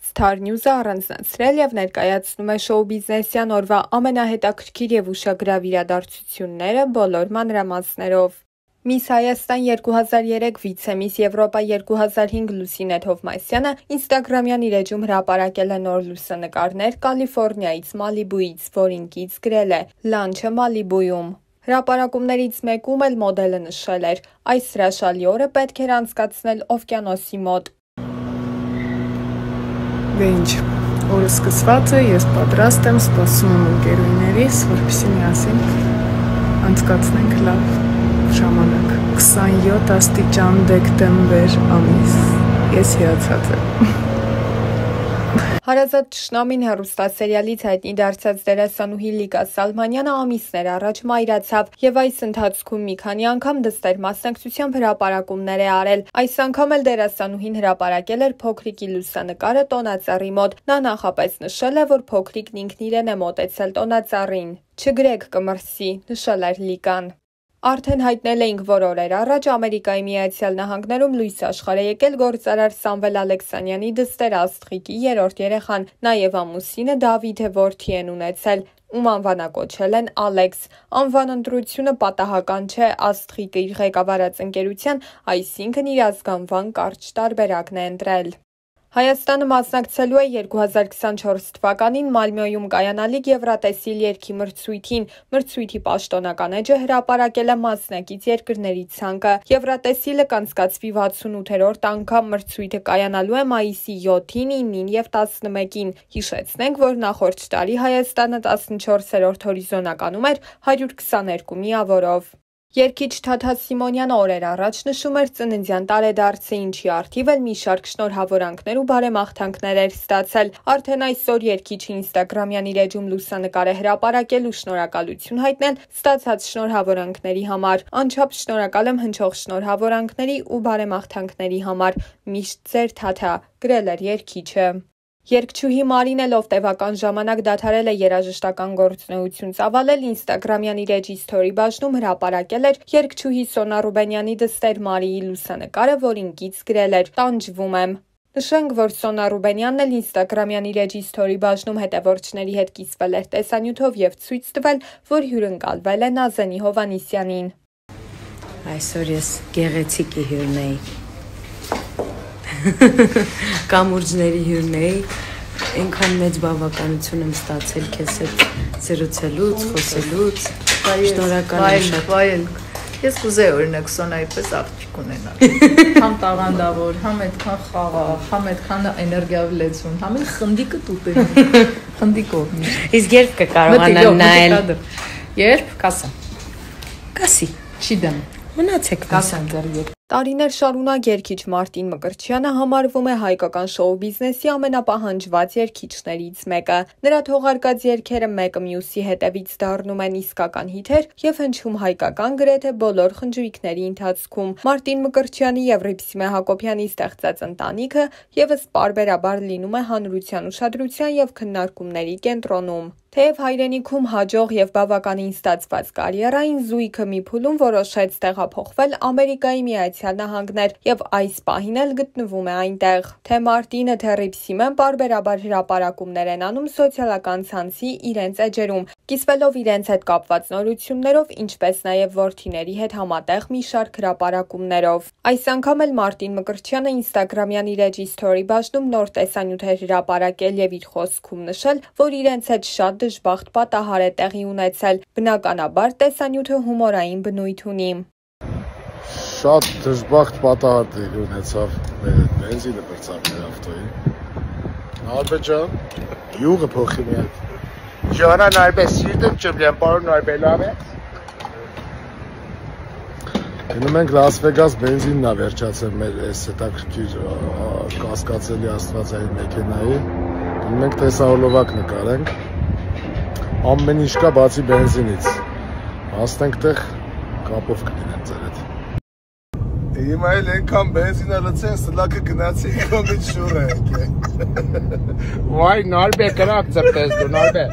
Star News-ը առանձնացրել եւ ներկայացնում է շոու բիզնեսյան օրվա ամենահետաքրքիր եւ ուշագրավ իրադարձությունները բոլոր մանրամասներով։ Միս Հայաստան 2003 վիցեմիս Եվրոպա 2005 Լուսինե Թովմասյանը ինստագրամյան իր էջում հրապարակել է նոր լուսանկարներ Կալիֆոռնիայից Մալիբուից, որին կից գրել է «Լանչը Մալիբույում»։ Հրապարակումներից մեկում էլ մոդելը նշել էր. «Այս հրաշալի օրը պետք էր անցկացնել օվկիանոսի մոտ»։ Դե ինչ, օրը սկսված է, ես պատրաստ եմ, սպասում եմ ընկերուհիներիս, որպեսզի միասին անցկացնենք լավ ժամանակ։ 27 աստիճան դեկտեմբեր ամիս, ես հիացած եմ։ Հարազատ թշնամին հեռուստասերիալից հայտնի դարձած դերասանուհի Լիկա Սալմանյանը ամիսներ առաջ մայրացավ եւ այս ընթացքում մի քանի անգամ դստեր մասնակցությամբ հրապարակումներ է արել։ Այս անգամ էլ դերասանուհին հրապարակել էր փոքրիկի լուսանկարը տոնածառի մոտ։ Նա նախապես նշել է, որ փոքրիկն ինքն իրեն է մոտեցել տոնածառին։ «Չգրեք կմրսի», նշել էր Լիկան։ Արդեն հայտնել էինք, որ օրեր առաջ Ամերիկայի Միացյալ Նահանգներում լույս աշխարհ է եկել գործարար Սամվել Ալեքսանյանի դստեր Աստղիկի երրորդ երեխան, նաև ամուսինը Դավիթը որդի են ունեցել, ում անվանակոչել են Ալեքս։ Անվան ընտրությունը պատահական չէ, Աստղիկը իր ղեկավարած ընկերության, այսինքն իր ազգանվան կարճ տարբերակն է ընտրել։ Հայաստանը մասնակցելու է 2024 թվականին Մալմյոյում կայանալիք Եվրատեսիլ երգի մրցույթին։ Մրցույթի պաշտոնական էջը հրապարակել է մասնակից երկրների ցանկը։ Եվրատեսիլը կանցկացվի 68-րդ անգամ, մրցույթը կայանալու է մայիսի 7-ին, 9-ին եւ 11-ին։ Հիշեցնենք, որ նախորդ տարի Հայաստանը 14-րդ հորիզոնականում էր 122 միավորով։ Երգիչ Թաթա Սիմոնյանը օրեր առաջ նշում էր ծննդյան տարեդարձը, ինչի առթիվ էլ մի շարք շնորհավորանքներ ու բարեմաղթանքներ էր ստացել։ Արդեն այսօր երգիչը ինստագրամյան իր էջում լուսանկար է հրապարակել ու շնորհակալություն հայտնել ստացած շնորհավորանքների համար։ Անչափ շնորհակալ եմ հնչող շնորհավորանքների ու բարեմաղթանքների համար։ Միշտ ձեր Թաթա, գրել էր երգիչը։ Երգչուհի Մարինելով տևական ժամանակ դադարել է երաժշտական գործունեություն ծավալել, ինստագրամյան իր էջի սթորի բաժնում հրապարակել էր երգչուհի Սոնա Ռուբենյանի դստեր Մարիի լուսանկարը, որին կից գրել էր «Տանջվում եմ»։ Նշենք, որ Սոնա Ռուբենյանն էլ ինստագրամյան իր էջի սթորի բաժնում հետևորդների հետ կիսվել էր տեսանյութով եւ ցույց տվել, որ հյուրընկալվել է Նազենի Հովանիսյանին։ Այսօր ես գեղեցիկի հյուրն էի։ Կամուրջների հյուրն էի, այնքան մեծ բավականություն եմ ստացել քեզ հետ զրուցելուց, խոսելուց, շնորհակալ եմ շատ։ Ես կուզեի օրինակ Սոնայի պես աղջիկ ունենալ։ Համ տաղանդավոր, համ այդքան խաղաղ, համ այդքան էներգիավլեցուն, համ էլ խնդիկը տուտել։ Խնդիկով միշտ։ Իսկ երբ կկարողանան նայել։ Երբ կասա։ Կասի։ Չի դեմ։ Մնացեք կասան ձեր։ Տարիներ շարունակ երգիչ Մարտին Մկրտչյանը համարվում է հայկական շոու բիզնեսի ամենապահանջված երգիչներից մեկը։ Նրա թողարկած երգերը մեկը մյուսի հետևից դառնում են իսկական հիթեր եւ հնչում հայկական գրեթե բոլոր խնջույքների ընթացքում։ Մարտին Մկրտչյանի եւ Ռիփսիմե Հակոբյանի ստեղծած ընտանիքը եւս պարբերաբար լինում է հանրության ուշադրության եւ քննարկումների կենտրոնում։ Թեև հայրենիքում հաջող եւ բավականին ստացված կարիերային զույգը մի փուլում որոշեց տեղափոխվել Ամերիկայի Միացյալ Նահանգներ եւ այս պահին էլ գտնվում է այնտեղ։ Թե Մարտինը, թե Ռիփսիմեն պարբերաբար հրապարակումներ են անում սոցիալական ցանցի իրենց էջերում, կիսվելով իրենց հետ կապված նորություններով, ինչպես նաեւ որդիների հետ համատեղ մի շարք հրապարակումներով։ Այս անգամ էլ Մարտին Մկրտչյանը ինստագրամյան իր էջի սթորի բաժնում նոր տեսանյութ էր հրապարակել եւ իր խոսքում նշել, որ իրենց հետ շատ դժբախտ պատահար է տեղի ունեցել։ Բնականաբար տեսանյութը հումորային բնույթ ունի։ Շատ դժբախտ պատահար տեղի ունեցավ մեր այդ բենզինը բրծավ մեր ավտոյին։ Նարբե ջան, յուղը փոխի մի հատ։ Ջանա Նարբե, սիրտը չբլեմ, պարոն Նարբե, լավ է։ Գնում ենք Լաս Վեգաս բենզինն է վերջացել մեր այս հետաքրքիր կասկածելի աստվածային մեքենայի։ Գնում ենք տեսահոլովակ նկարենք։ Ամեն ինչ կա բացի բենզինից։ Հասնենք տեղ կապով կդինենք ձեր հետ։ Հիմա էլ այնքան բենզինը լցեն, սլակը գնացի կոմից շուր է եկել։ Վայ, Նարբե, կրակ ծրտես դու, Նարբե։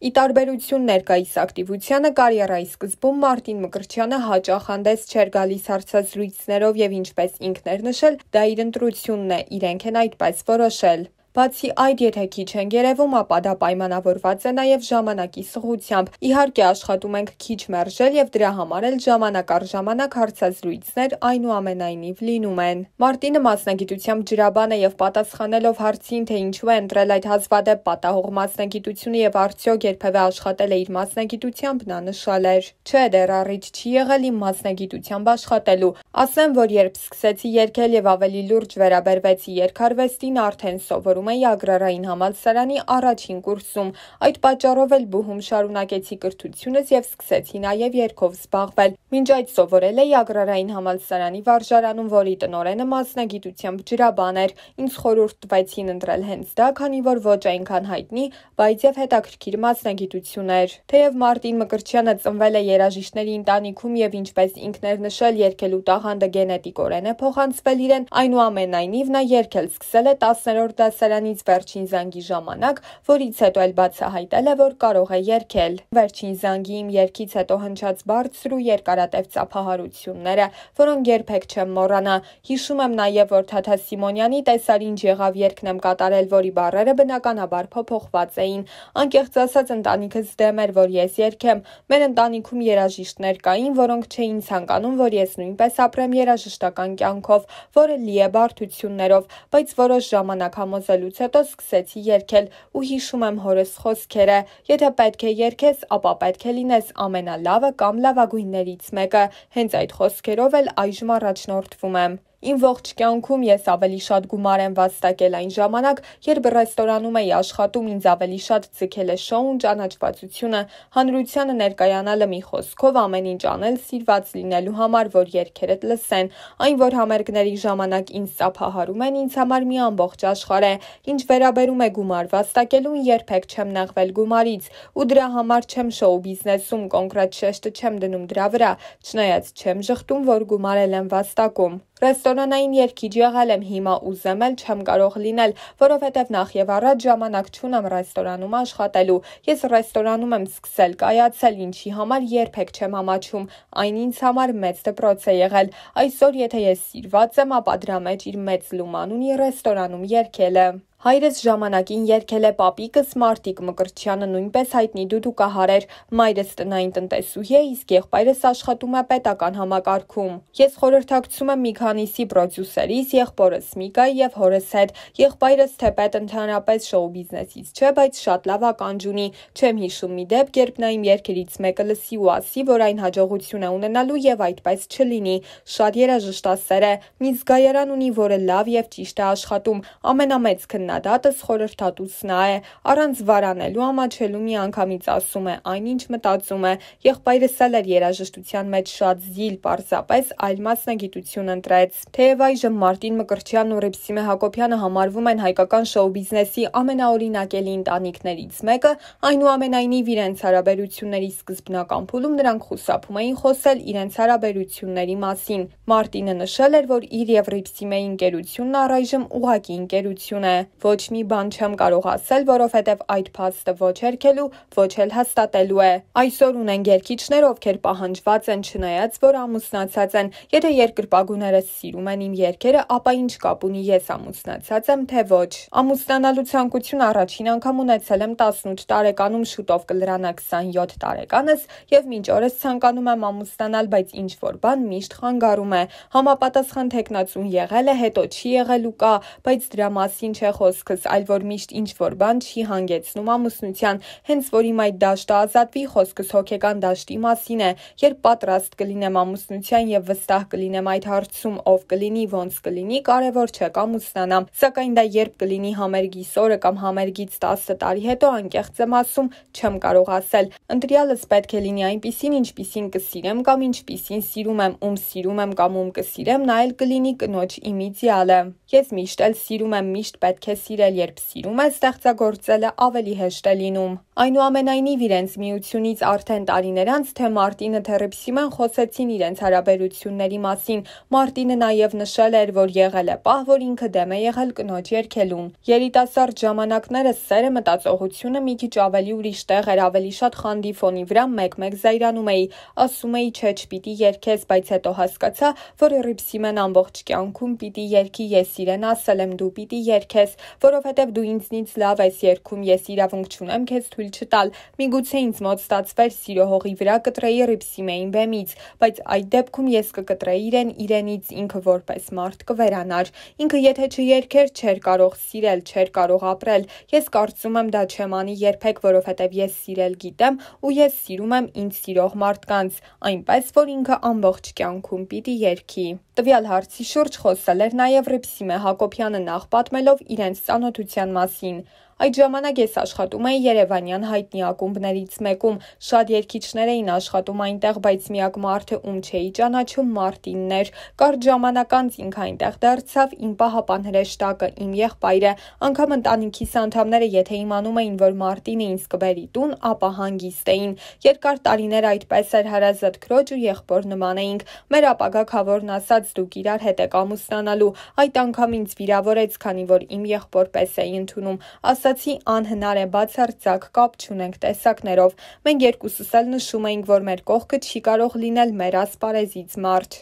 Ի տարբերություն ներկայիս ակտիվությանը կարիերայի սկզբում Մարտին Մկրտչյանը հաճախ հանդես չէր գալիս հարցազրույցներով եւ ինչպես ինքն էր նշել, դա իր ընտրությունն է, իրենք են այդպես որոշել։ Բացի այդ, եթե քիչ են երևում, ապա դա պայմանավորված է նաև ժամանակի սղությամբ։ Իհարկե աշխատում ենք քիչ մերժել եւ դրա համար էլ ժամանակ առ ժամանակ հարցազրույցներ այնուամենայնիվ լինում են։ Մարտինը մասնագիտությամբ ջրաբան է եւ պատասխանելով հարցին, թե ինչու է ընտրել այդ հազվադեպ պատահող մասնագիտությունը եւ արդյոք երբևէ աշխատել է իր մասնագիտությամբ, նա նշել էր. «Չէ, դեռ առիթ չի եղել իմ մասնագիտությամբ աշխատելու։ Ասեմ, որ երբ սկսեցի երգել եւ ավելի լուրջ վերաբերվեցի երգարվեստին, արդեն սովորում էի Ագրարային համալսարանի առաջին կուրսում։ Այդ պատճառով էլ բուհում շարունակեցի կրթությունս եւ սկսեցի նաեւ երգով զբաղվել։ Մինչ այդ սովորել էի Ագրարային համալսարանի վարժարանում, որի տնօրենը մասնագիտությամբ ջրաբան էր։ Ինձ խորհուրդ տվեցին ընտրել հենց դա, քանի որ ոչ այնքան հայտնի, բայց եւ հետաքրքիր մասնագիտություն էր»։ Թեև Մարտին Մկրտչյանը ծնվել է երաժիշտների ընտանիքում եւ ինչպես ինքն էր նշել, երգելու տաղանդը գենետիկորեն է փոխանցվել իրեն, այնուամենայնիվ նա երգել սկսել է 10-րդ դասարանից վերջին զանգի ժամանակ, որից հետո էլ բացահայտել է, որ կարող է երգել։ Վերջին զանգի իմ երգից հետո հնչած բարձր ու երկարատև ծափահարությունները, որոնք երբեք չեմ մոռանա։ Հիշում եմ նաև, որ Թաթա Սիմոնյանի «Տեսար ինչ եղավ» երգն եմ կատարել, որի բառերը բնականաբար փոփոխված էին։ Անկեղծ ասած, ընտանիքս դեմ էր, որ ես երգեմ։ Մեր ընտանիքում երաժիշտներ կային, որոնք չէին ցանկանում, որ ես նույնպես ապրեմ երաժշտական կյանքով, որը լի է բարդություններով, բայց որոշ ժամանակ համոզելուց հետո սկսեցի երգել ու հիշում եմ հորս խոսքերը. «Եթե պետք է երգես, ապա պետք է լինես ամենալավը կամ լավագույններից մեկը»։ Հենց այդ խոսքերով էլ այժմ առաջնորդվում եմ։ Իմ ողջ կյանքում ես ավելի շատ գումար եմ վաստակել այն ժամանակ, երբ ռեստորանում էի աշխատում, ինձ ավելի շատ ձգել է շոուն, ճանաչվածությունը, հանրությանը ներկայանալը, մի խոսքով ամեն ինչ անել սիրված լինելու համար, որ երգերդ լսեն։ Այն, որ համերգների ժամանակ ինձ ծափահարում են, ինձ համար մի ամբողջ աշխարհ է։ Ինչ վերաբերում է գումար վաստակելուն, երբեք չեմ նեղվել գումարից, ու դրա համար չեմ շոու բիզնեսում կոնկրետ շեշտը չեմ դնում դրա վրա, չնայած չեմ ժխտում, որ գումար եմ վաստակում։ Ռեստորանային երգիչ եղել եմ, հիմա ուզեմ էլ չեմ կարող լինել, որովհետև նախ եւ առաջ ժամանակ չունեմ ռեստորանում աշխատելու։ Ես ռեստորանում եմ սկսել կայացել, ինչի համար երբեք չեմ ամաչում։ Այն ինձ համար մեծ դպրոց է եղել։ Այսօր եթե ես սիրված եմ, ապա դրա մեջ իր մեծ լուման ունի ռեստորանում երգելը։ Հայրս ժամանակին երգել է պապիկս Մարտիկ Մկրտչյանը, նույնպես հայտնի դուդուկահար էր։ Մայրս տնային տնտեսուհի է, իսկ եղբայրս աշխատում է պետական համակարգում։ Ես խորհրդակցում եմ մի քանիսի պրոդյուսերից, եղբորս Միկայի եւ հորս հետ։ Եղբայրս թեպետ ընդհանրապես շոու բիզնեսից չէ, բայց շատ լավ ականջ ունի։ Չեմ հիշում մի դեպք, երբ նա իմ երգերից մեկը լսի ու ասի, որ այն հաջողություն է ունենալու եւ այդպես չլինի։ Շատ երաժշտասեր է, մի զգայարան ունի, որը լավ եւ ճիշտ է աշխատում։ Ամենամեծ քննադատս խորհրդատուց նա է, առանց վարանելու ամաչելու միանգամից ասում է այն, ինչ մտածում է։ Եղբայրս էլ էր երաժշտության մեջ շատ զիլ, պարզապես այլ մասնագիտություն ընտրեց։ Թեև այժմ Մարտին Մկրտչյանն ու Ռիփսիմե Հակոբյանը համարվում են հայկական շոու բիզնեսի ամենաօրինակելի ընտանիքներից մեկը, այնուամենայնիվ իրենց հարաբերությունների սկզբնական փուլում նրանք խուսափում էին խոսել իրենց հարաբերությունների մասին։ Մարտինը նշել էր, որ իր եւ Ռիփսիմեի ընկերությունն առայժմ ուղղակի ընկերություն է։ Ոչ մի բան չեմ կարող ասել, որովհետև այդ փաստը ոչ հերքելու, ոչ էլ հաստատելու է։ Այսօր ունեն երգիչներ, ովքեր պահանջված են, չնայած որ ամուսնացած են։ Եթե երկրպագուներս սիրում են իմ երգերը, ապա ինչ կապ ունի ես ամուսնացած եմ, թե ոչ։ Ամուսնանալու ցանկություն առաջին անգամ ունեցել եմ 18 տարեկանում, շուտով կլրանա 27 տարեկանս եւ մինչ օրս ցանկանում եմ ամուսնանալ, բայց ինչ որ բան միշտ խանգարում է։ Համապատասխան թեկնածուն եղել է, հետո չի եղել ու կա, բայց դրա մասին չէ խոսքս, այլ որ միշտ ինչ որ բան չի հանգեցնում ամուսնության, հենց որ իմ այդ դաշտը ազատվի, խոսքս հոգեկան դաշտի մասին է, երբ պատրաստ կլինեմ ամուսնության եւ վստահ կլինեմ այդ հարցում ով կլինի, ոնց կլինի, կարևոր չէ կամուսնանամ, սակայն դա երբ կլինի համերգիս օրը կամ համերգից 10 տարի հետո, անկեղծ եմ ասում, չեմ կարող ասել։ Ընտրյալս պետք է լինի այնպիսին, ինչպիսին կսիրեմ կամ ինչպիսին սիրում եմ, ում սիրում եմ կամ ում կսիրեմ, նա էլ կլինի կնոջ իմ իդեալը։ Ես միշտ էլ սիրում եմ, միշտ պետք է սիրել, երբ սիրում ես, ստեղծագործելը ավելի հեշտ է լինում։ Այնուամենայնիվ իրենց միությունից արդեն տարիներ անց թե Մարտինը, թե Ռիփսիմեն խոսեցին իրենց հարաբերությունների մասին։ Մարտինը նաև նշել էր, որ եղել է պահ, որ ինքը դեմ է եղել կնոջ երգելուն։ Երիտասարդ ժամանակներս սերը, մտածողությունը մի քիչ ավելի ուրիշ տեղ էր, ավելի շատ խանդի ֆոնի վրա մեկ-մեկ զայրանում էի, ասում էի չէ, չպիտի երգես, բայց հետո հասկացա, որ Ռիփսիմեն ամբողջ կյանքում պիտի երգի, ես իրեն ասել եմ դու պիտի երգես, որովհետև դու ինձնից լավ ես երգում, ես իրավունք չունեմ քեզ թույլ չտալ։ Միգուցե ինձ մոտ ստացվեր սիրո հողի վրա կտրեի Ռիփսիմեին բեմից, բայց այդ դեպքում ես կկտրեի իրենից, ինքը որպես մարդ կվերանար։ Ինքը եթե չերգեր, չէր կարող սիրել, չէր կարող ապրել։ Ես կարծում եմ դա չեմ անի երբեք, որովհետև ես սիրել գիտեմ ու ես սիրում եմ ինձ սիրող մարդկանց, այնպես որ ինքը ամբողջ կյանքում պիտի երգի։ Տվյալ հարցի շուրջ խոսել էր նաև Ռիփսիմե Հակոբյանը, նախ պատմելով իրենց ծանոթության մասին։ Այդ ժամանակ ես աշխատում էի երևանյան հայտնի ակումբներից մեկում, շատ երգիչներ էին աշխատում այնտեղ, բայց միակ մարդը, ում չէի ճանաչում, Մարտինն էր։ Կարճ ժամանակ անց ինքը այնտեղ դարձավ իմ պահապան հրեշտակը, իմ եղբայրը, անգամ ընտանիքիս անդամները, եթե իմանում էին, որ Մարտինը ինձ կբերի տուն, ապա հանգիստ էին։ Երկար տարիներ այդպես էր, հարազատ քրոջ ու եղբոր նման էինք։ Մեր ապագա քավորն ասաց՝ դուք իրար հետ եք ամուսնանալու։ Այդ անգամ ինձ վիրավորեց, քանի որ իմ եղբոր պես էի ընդունում։ Ասացի անհնար է, բացարձակ կապ չունենք տեսակներով։ Մենք երկուսս էլ նշում էինք, որ մեր կողքը չի կարող լինել մեր ասպարեզից մարդ։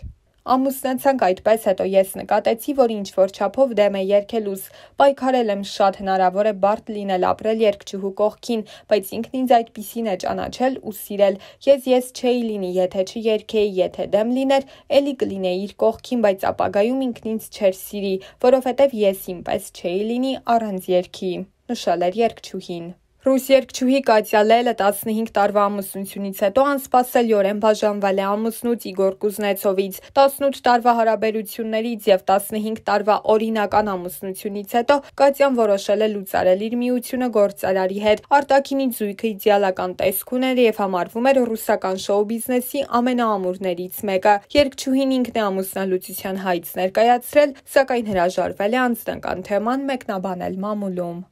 Ամուսնացանք այդպես, հետո ես նկատեցի, որ ինչ-որ չափով դեմ է երգելուս։ Պայքարել եմ շատ, հնարավոր է բարդ լինել ապրել երգչուհու կողքին, բայց ինքն ինձ այդպիսին է ճանաչել ու սիրել։ Ես չէի լինի, եթե չերգեի, եթե դեմ լիներ, էլի կլինեի իր կողքին, բայց ապագայում ինքն ինձ չէր սիրի, որովհետև ես ինպես չէի լինի առանց երգի, նշել էր երգչուհին։ Ռուս երգչուհի Կատյա Լելը 15 տարվա ամուսնությունից հետո անսպասելիորեն բաժանվել է ամուսնուց Իգոր Կուզնեցովից։ 18 տարվա հարաբերություններից եւ 15 տարվա օրինական ամուսնությունից հետո Կատյան որոշել է լուծարել իր միությունը գործարարի հետ։ Արտաքինի զույգը իդեալական տեսք ուներ եւ համարվում էր ռուսական շոու բիզնեսի ամենաամուրներից մեկը։ Երգչուհին ինքն է ամուսնալուծության հայց ներկայացրել, սակայն հրաժարվել է անձնական թեման մեկնաբանել մամուլում։